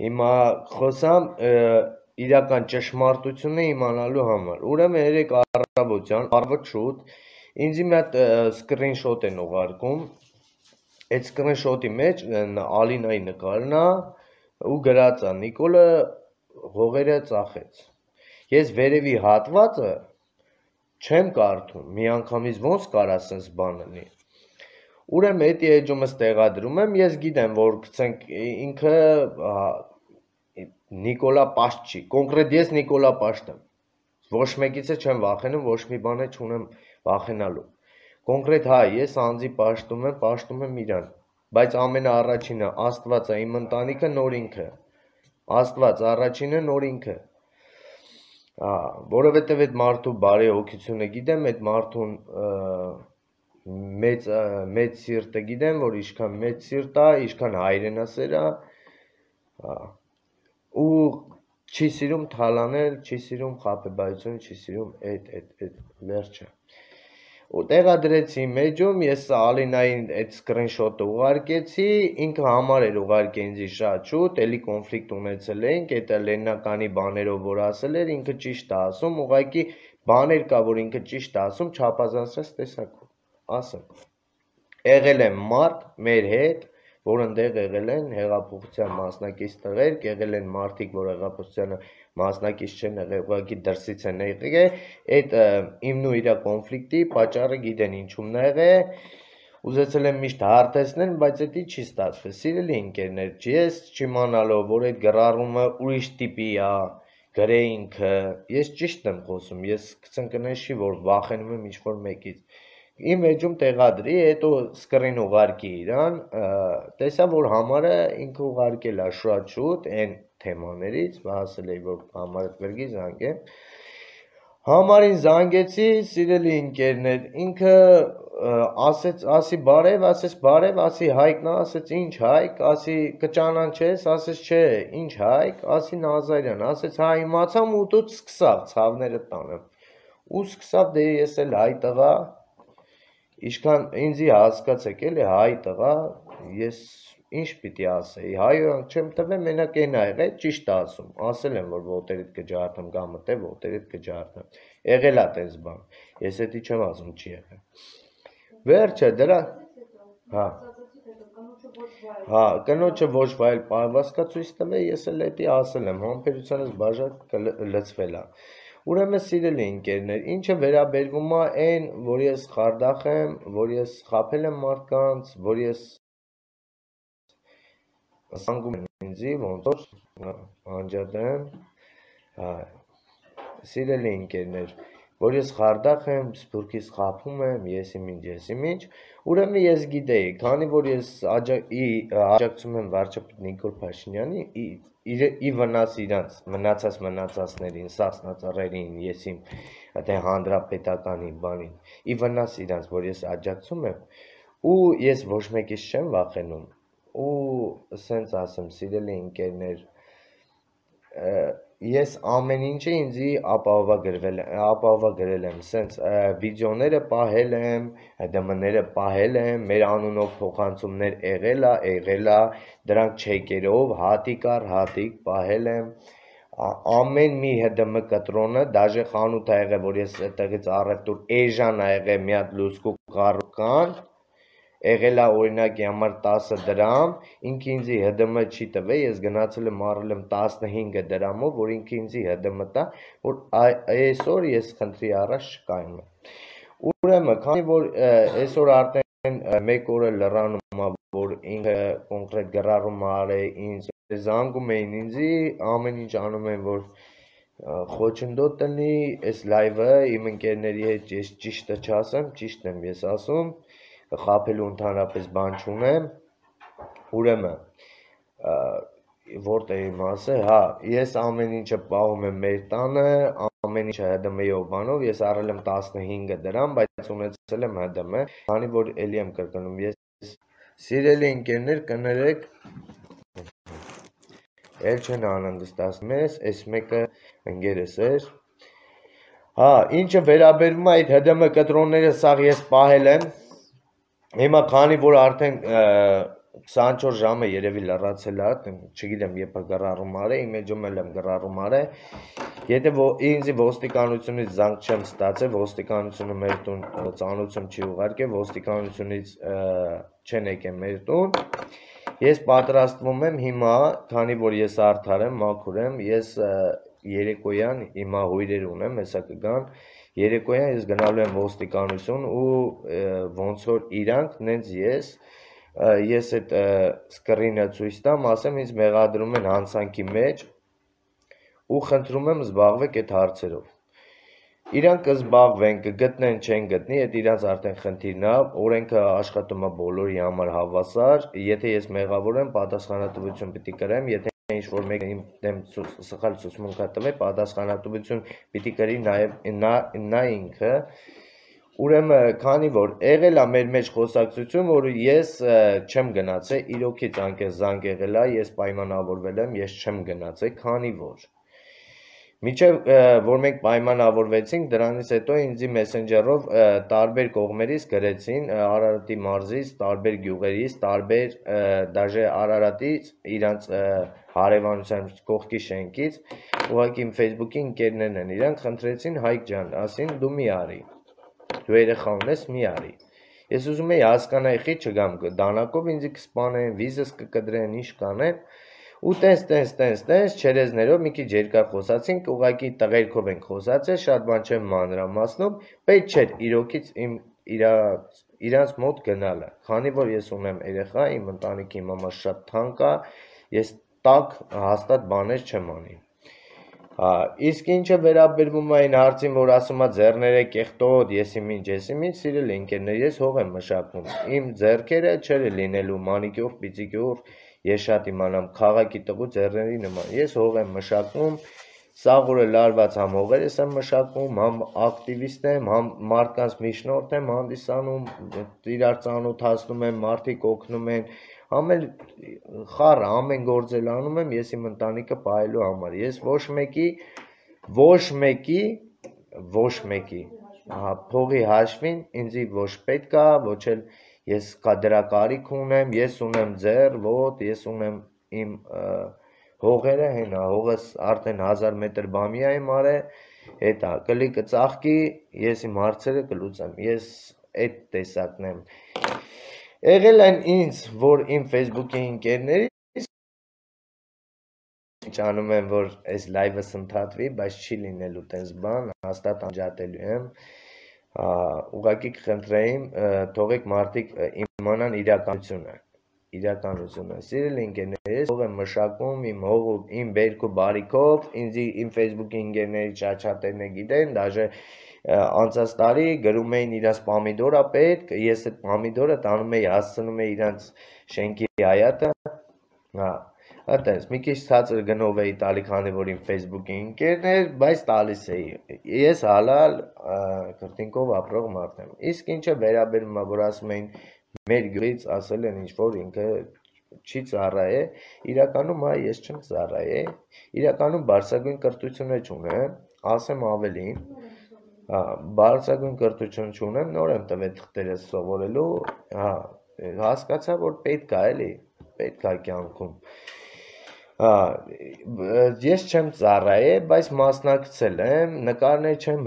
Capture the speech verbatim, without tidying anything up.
Հիմա խոսամ իրական ճշմարտությունը իմանալու համար։ Ուրեմն երեք առավոտյան, առավոտ շուտ, ինձ մի հատ սկրինշոտ են ուղարկում։ Այդ սկրինշոտի մեջ Ալինայի նկարն է ու գրած է Նիկոլը հողերը ծախեց։ Ես վերևի հատվածը չեմ կարդում, միանգամից ոնց կարա սենց բան լինի։ Ուրեմն էդի էջումս տեղադրում եմ, ես գիտեմ, որ գցենք ինքը Նիկոլա Պաշտ չի, կոնկրետ ես Նիկոլա Պաշտ եմ, ոչ մեկից չեմ վախենում, ոչ մի բան չունեմ վախենալու, կոնկրետ հայ, ես անձի պաշտում եմ, պաշտում եմ իրան, բայց ամենաառաջինը Աստված է, իմ ընտանիքը նոր ինքը, Աստված առաջինը նոր ինքը, որովհետև այդ մարդու բարի հոգությունը գիտեմ, այդ մարդուն մեծ մեծ սիրտը գիտեմ, որ ինչքան մեծ սիրտ է, ինչքան հայրենասեր է, ու չի սիրում թալանել, չի սիրում խաբեբայություն, չի սիրում այդ այդ այդ վերջը։ Ու տեղադրեցի մեջում, ես Ալինային այդ սկրինշոտը ուղարկեցի, ինքը համար էր ուղարկել ինձ շատ շուտ, էլի կոնֆլիկտ ունեցել էինք, այդ լեննականի բաներով որ ասել էր, ինքը ճիշտ է ասում, ուղղակի բաներ կա, որ ինքը ճիշտ է ասում, չափազանցրած տեսակով, ասեմ։ Եղել եմ մարդ մեր հետ, որ ընդեղ եղել են հեղափոխության մասնակից տղերք, եղել են մարդիկ, որ հեղափոխությանը մասնակից չեն եղել, ուղղակի դրսից են եղել, այդ իմն ու իր կոնֆլիկտի պատճառը գիտեն ինչումն է եղել, ուզեցել եմ միշտ հարթեցնել, բայց դա չի ստացվել։ Սիրելի ընկերներ, ես չիմանալով, որ այդ գրառումը ուրիշ տիպի է, գրե ինքը, ես ճիշտ եմ խոսում, ես կնշի, որ վախենում եմ ինչ-որ մեկից։ Իմ էջում տեղադրի, հետո սկրին ուղարկի իրան, տեսա, որ համարը ինքը ուղարկել է շատ շուտ, այն թեմաներից, ասել էի, որ համարը գրգի զանգեմ, համարին զանգեցի, սիրելի ընկերներ, ինքը ասեց, ասի բարև, ասեց բարև, ասի հայկն է, ասեց ինչ հայկ, ասի կճանաչես, ասեց չէ, ինչ հայկ, ասի Նազարյան, ասեց հա իմացամ ու դու սկսավ ցավները տանեմ, ու սկսավ դե ես էլ հայ տղա, Իշքան ինձի հասկացեք էլի հայ տղա, ես ինչ պիտի ասեի, հայոյանք չեմ տվել, մենակ են ա եղել, ճիշտ ասում, ասել եմ, որ ոտերիդ կջարդեմ, գամը թե ոտերիդ կջարդեմ, եղել ա տես բան, ես էդի չեմ ասում, չի եղել, վերջը դրա, հա, հա, կնոջը ոչ վայել պարվածքա ցույց տվել, ես էլ էդի ասել եմ, համբերությանս բաժակ լծվել ա, Ուրեմն սիրելի ընկերներ, ինչը վերաբերվում է այն, որ ես խարդախ եմ, որ ես խաբել եմ մարդկանց, որ ես զանգում եմ ինձի, ոնց որ անջատեմ, սիրելի ընկերներ, որ ես խարդախ եմ, սփյուռքից խաբում եմ, ես իմ ինչ, ես իմ ինչ, ուրեմն ես գիտեի, քանի որ ես աջակցում եմ վարչապետ Նիկոլ Փաշինյանի, ի վնաս իրանց մնացած մնացածներին, սասնածառերին, ես իմ թե հանրապետականի բանին, ի վնաս իրանց, որ ես աջակցում եմ, ու ես ոչ մեկից չեմ վախենում, ու սենց ասեմ, սիրելի ընկերներ, ես ամեն ինչը ինձի ապահովագրել եմ, սենց վիդեոները պահել եմ, դմները պահել եմ, մեր անունով փոխանցումներ եղել ա, եղել ա, դրանք չեկերով, հատիկ առ հատիկ պահել եմ, ամեն մի ՀԴՄ կտրոնը, դաժե խանութ ա եղել, որ ես այդտեղից առևտուր էժան ա եղել մի հատ լուսկու կառուկան, եղել ա օրինակի համար տասը դրամ, ինքը ինձի ՀԴՄ չի տվել, ես գնացել եմ առել եմ տասնհինգ դրամով, որ ինքը ինձի ՀԴՄ տա, որ այսօր ես խնդրի առաջ չկայում եմ։ Ուրեմն, քանի որ այսօր արդեն մեկ օր լրանում ա, որ ինքը կոնկրետ գրառում ա արել ինձ, զանգում էին ինձի, ամեն ինչ անում են, որ խոչընդոտ տնի, այս լայվը իմ ընկերների հետ ես ճիշտը չասեմ, ճիշտ եմ ես ասում, խաբելու ընդհանրապես բան չունեմ, ուրեմն, որտեղ իմ ասել, հա, ես ամեն ինչը պահում եմ մեր տանը, ամեն ինչը ՀԴՄ-ով բանով, ես առել եմ տասնհինգ դրամ, բայց ունեցել եմ ՀԴՄ, քանի որ էլի եմ կրկնում, ես սիրելի ընկերներ կներեք, էլ չեն անհանգստացնում ես, այս մեկը ընկերս էր, հա, ինչը վերաբերում է այդ ՀԴՄ կտրոնները սաղ ես պահել եմ, Հիմա քանի որ արդեն քսանչորս ժամը երևի լրացել է, չգիտեմ երբ է գրառում արել, իմ էջում էլ եմ գրառում արել։ Եթե ինձ ոստիկանությունից զանգ չեմ ստացել, ոստիկանությունը մեր տուն ծանուցում չի ուղարկել, ոստիկանությունից չեն եկել մեր տուն։ Ես պատրաստվում եմ հիմա, քանի որ ես արդար եմ, մաքուր եմ, ես երեկոյան հիմա հյուրեր ունեմ, հեսա կգան, երեկոյան ես գնալու եմ ոստիկանություն ու ոնց որ իրանք, նենց ես ես այդ սկրինը ցույց տամ, ասեմ ինձ մեղադրում են հանցանքի մեջ ու խնդրում եմ զբաղվեք այդ հարցերով։ Իրանք կզբաղվեն, կգտնեն, չեն գտնի, այդ իրանց արդեն խնդիրն է, օրենքը աշխատում է բոլորի համար հավասար, եթե ես մեղավոր եմ, պատասխանատվություն պիտի կրեմ, եթե ինչ-որ մեկը իմ դեմ սխալ ցուցմունք է տվել, պատասխանատվություն պիտի կրի նաև նա ինքը։ Ուրեմն, քանի որ եղել է մեր մեջ խոսակցություն, որ ես չեմ գնացել, իրոքից անկես զանգ եղել է, ես պայմանավորվել եմ, ես չեմ գնացել, քանի որ Մինչև որ մենք պայմանավորվեցինք, դրանից հետո ինձ մեսենջերով տարբեր կողմերից գրեցին Արարատի մարզից, տարբեր գյուղերից, տարբեր դաժե Արարատից, իրանց հարևանության կողքի շենքից, ուղղակի իմ Facebook-ի ընկերներն են, իրանք խնդրեցին Հայկ ջան, ասին դու մի արի, դու երեխա ունես, մի արի։ Ես ուզում եի հասկանայի խի չգամ դանակով ինձ կսպանեն, վիզս կկտրեն, ինչ կանեն։ Ու տես, տես, տես, տես, չերեզներով մի քիչ երկար խոսացինք, ուղղակի տղերքով ենք խոսացել, շատ բան չեմ մանրամասնում, պետք չէր իրոքից իմ իրանց մոտ գնալը, քանի որ ես ունեմ երեխա, իմ ընտանիքի մամա շատ թանկ է, ես տակ հաստատ բաներ չեմ անի։ Իսկ ինչը վերաբերվում է այն հարցին, որ ասում է ձեռները կեղտոտ, եսի ինչ, եսի ինչ, սիրելի ընկերներ, ես հող եմ մշակում, իմ ձեռքերը չէր լինելու մանիկյուր, պիծիկյուր, ես շատ իմանամ քաղաքի տղու ձեռների նման, ես հող եմ մշակում, սաղուրը լարված համ հողերս եմ մշակում, համ ակտիվիստ եմ, համ մարդկանց միջնորդ եմ հանդիսանում, իրար ծանոթացնում եմ, մարդիկ օգնում են, համ էլ խառը ամեն գործել անում եմ, ես իմ ընտանիքը պահելու համար, ես ոչ մեկի, ոչ մեկի, ոչ մեկի, փողի հաշվին ինձի ոչ պետք է, ոչ էլ ես դրա կարիք ունեմ, ես ունեմ ձեռ, ոտ, ես ունեմ իմ հողերը, հենա, հողս արդեն հազար մետր բամիա եմ արել, հետա կլիկը ծաղկի, ես իմ հարցերը կլուծեմ, ես այդ տեսակն եմ։ Եղել են ինձ, որ իմ Facebook-ի ընկերներից ճանում եմ, որ այս լայվս ընդհատվի, բայց չի լինելու տես բան, հաստատ անջատելու եմ, ուղղակի կխնդրեին, թողեք մարդիկ իմանան իրականությունը, իրականությունը, սիրելի ընկերներ, հող եմ մշակում, իմ հողը, իմ բերք ու բարիքով, ինձի իմ Facebook-ի ընկերների ճաչատերն է գիտեն, դաժե անցած տարի գրում էին իրաց պամիդորա պետք, ես այդ պամիդորը տանում էի, հասցնում էի իրանց շենքի հայատը, հա, Ատես, մի քիչ ցածր գնով էի տալի, քանի որ իմ Facebook-ի ընկերն էր, բայց տալիս էի, ես հալալ քրտինքով ապրող մարդ եմ, իսկ ինչը վերաբերում է, որ ասում էին մեր գյուղից ասել են ինչ-որ ինքը չի ծառայե, իրականում այ ես չեմ ծառայե, իրականում բարձրագույն կրթություն չունեմ, ասեմ ավելին, բարձրագույն կրթություն չունեմ, նոր եմ տվել թղթերս սովորելու, հասկացա, որ պետք է էլի, պետք է կյանքում Ես չեմ ծառայե, բայց մասնակցել եմ, նկարներ չեմ